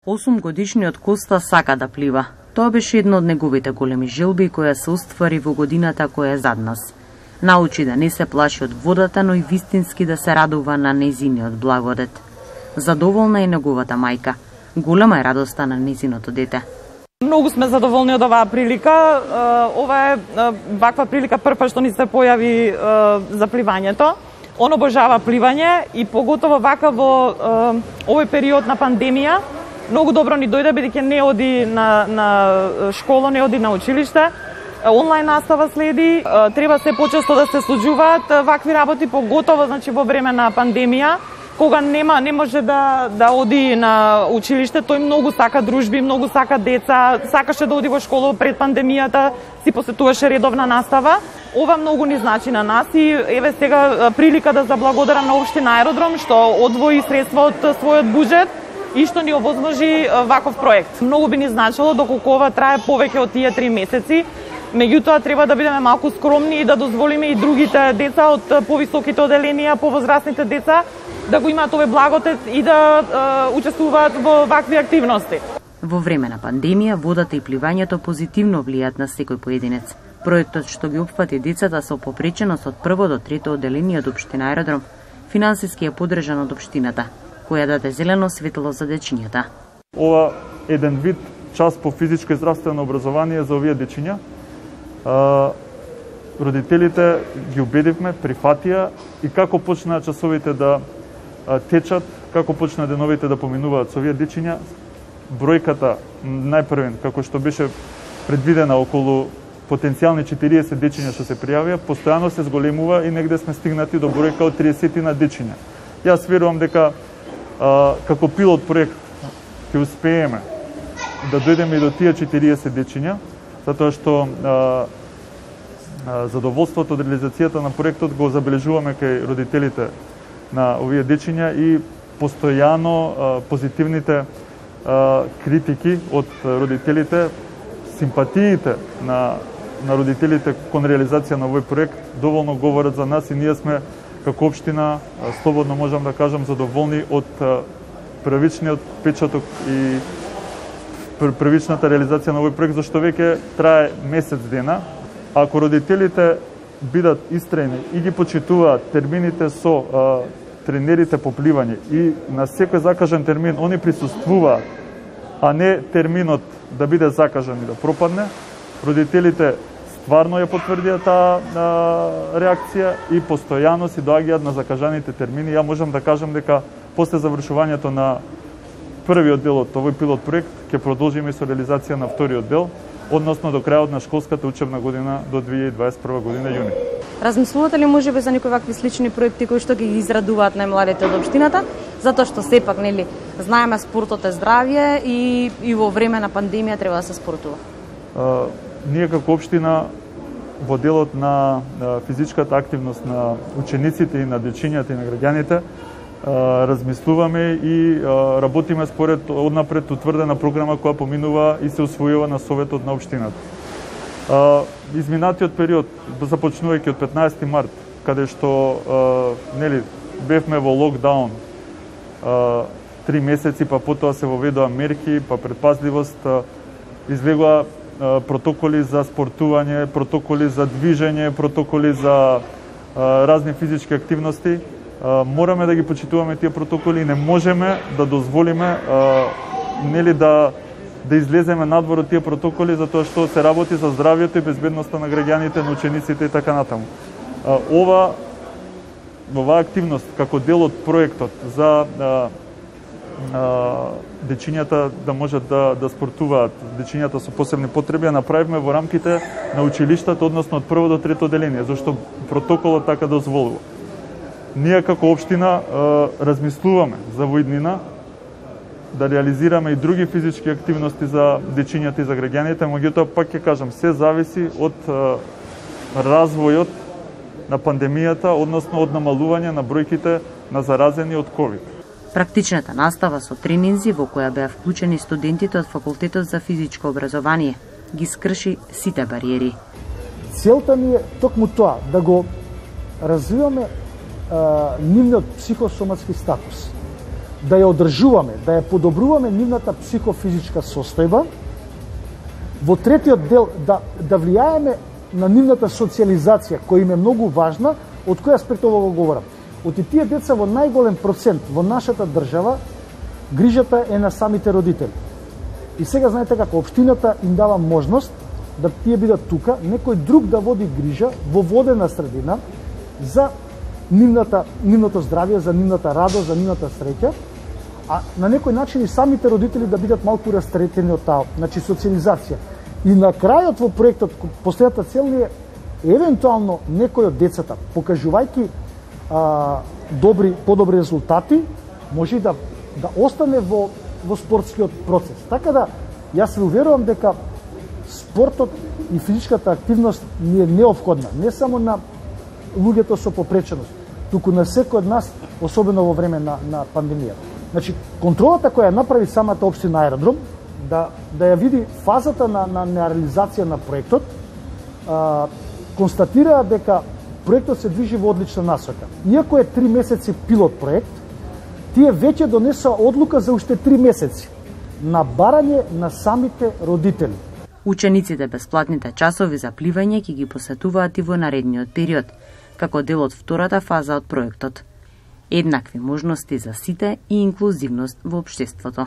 8-годишниот Коста сака да плива. Тоа беше една од неговите големи желби која се оствари во годината која е зад нас. Научи да не се плаши од водата, но и вистински да се радува на нејзиниот благодет. Задоволна е неговата мајка. Голема е радоста на нејзиното дете. Многу сме задоволни од оваа прилика. Ова е ваква прилика прва што ни се појави за пливањето. Он обожава пливање и поготово вака во овој период на пандемија. Многу добро ни дојде бидејќи не оди на школа, не оди на училиште. Онлайн настава следи. Треба се почесто да се случуваат вакви работи, поготово значи во време на пандемија, кога не може да оди на училиште. Тој многу сака дружби, многу сака деца, сакаше да оди во школа пред пандемијата, си посетуваше редовна настава. Ова многу ни значи на нас и еве сега прилика да заблагодарам на општина Аеродром што одвои средства од својот буџет и што ни овозможи ваков проект. Многу би ни значило доколку ова трае повеќе од тие 3 месеци. Меѓутоа треба да бидеме малку скромни и да дозволиме и другите деца од повисоките оделенија, повозрастните деца да го имаат овој благодет и да учествуваат во вакви активности. Во време на пандемија, водата и пливањето позитивно влијаат на секој поединец. Проектот што ги опфати децата со попреченост од прво до трето оделение од општина Аеродром финансиски е поддржан од општината, која даде зелено светло за дечињата. Ова еден вид час по физичко и здравствено образование за овие дечиња. Родителите ги убедивме, прифатија и како почнаа часовите да течат, како почнаа деновите да поминуваат со овие дечиња, бројката најпрвен, како што беше предвидена околу потенцијални 40 дечиња што се пријавија, постојано се зголемува и негде сме стигнати до бројка од 30 на дечиња. Јас верувам дека како пилот проект ќе успееме да дојдеме и до тие 40 дечиња, затоа што задоволството од реализацијата на проектот го забележуваме кај родителите на овие дечиња и постојано позитивните критики од родителите, симпатиите на родителите кон реализација на овој проект доволно говорат за нас и ние сме како општина слободно можам да кажам задоволни од првичниот печаток и првичната реализација на овој проект, зашто веќе трае месец дена. Ако родителите бидат истрајни и ги почитуваат термините со тренерите по пливање и на секој закажан термин они присуствуваат, а не терминот да биде закажан и да пропадне, родителите стварно ја потврдија таа реакција и постојано си доаѓаат на закажаните термини. Ја можам да кажам дека после завршувањето на првиот дел од овој пилот проект ќе продолжиме со реализација на вториот дел, односно до крајот на школската учебна година до 2021 година јуни. Размислувате ли можеби за некои вакви слични проекти кои што ги израдуваат најмладите од општината, затоа што сепак нели знаеме спортот е здравје и во време на пандемија треба да се спортува? Ние како општина во делот на физичката активност на учениците и на дечињата и на граѓаните размислуваме и работиме според однапред утврдена програма која поминува и се усвојува на советот на општината. Изминатиот период, започнувајќи од 15 март, каде што нели бевме во локдаун 3 месеци, па потоа се воведоа мерки, па предпазливост, излегоа протоколи за спортување, протоколи за движење, протоколи за разни физички активности. Мораме да ги почитуваме тие протоколи и не можеме да дозволиме нели да излеземе надвор од тие протоколи затоа што се работи за здравјето и безбедноста на граѓаните, на учениците и така натаму. Оваа активност како дел од проектот за дечињата да можат да спортуваат, дечињата со посебни потреби, направивме во рамките на училиштата, односно од прво до трето оделение, зашто протоколот така дозволува. Ние како општина размислуваме за во иднина да реализираме и други физички активности за дечињата и за граѓаните, меѓутоа пак ќе кажам, се зависи од развојот на пандемијата, односно од намалување на бројките на заразени од ковид. Практичната настава со тренинзи во која беа вклучени студентите од факултетот за физичко образование ги скрши сите бариери. Целта ни е токму тоа, да го развиваме нивниот психосоматски статус. да ја одржуваме, да ја подобруваме нивната психофизичка состојба. Во третиот дел да влијаеме на нивната социализација, која им е многу важна. Од кој аспект ово го говорам? Од тие деца во најголем процент во нашата држава грижата е на самите родители. И сега знаете како општината им дава можност да тие бидат тука, некој друг да води грижа во водена средина за нивното здравје, за нивната радост, за нивната среќа, а на некој начин и самите родители да бидат малку растретени од таа, значи социализација. И на крајот во проектот, последната цел е евентуално некој од децата, покажувајќи подобри резултати, може да остане во спортскиот процес. Така да, јас се уверувам дека спортот и физичката активност ни е неопходна, не само на луѓето со попреченост, туку на секој од нас, особено во време на пандемија. Значи, контролата која направи самата општина Аеродром, да ја види фазата на реализација на проектот, констатира дека проектот се движи во одлична насока. Иако е 3 месеци пилот проект, тие веќе донесоа одлука за уште 3 месеци на барање на самите родители. Учениците бесплатните часови за пливање ќе ги посетуваат и во наредниот период, како дел од втората фаза од проектот. Еднакви можности за сите и инклузивност во општеството.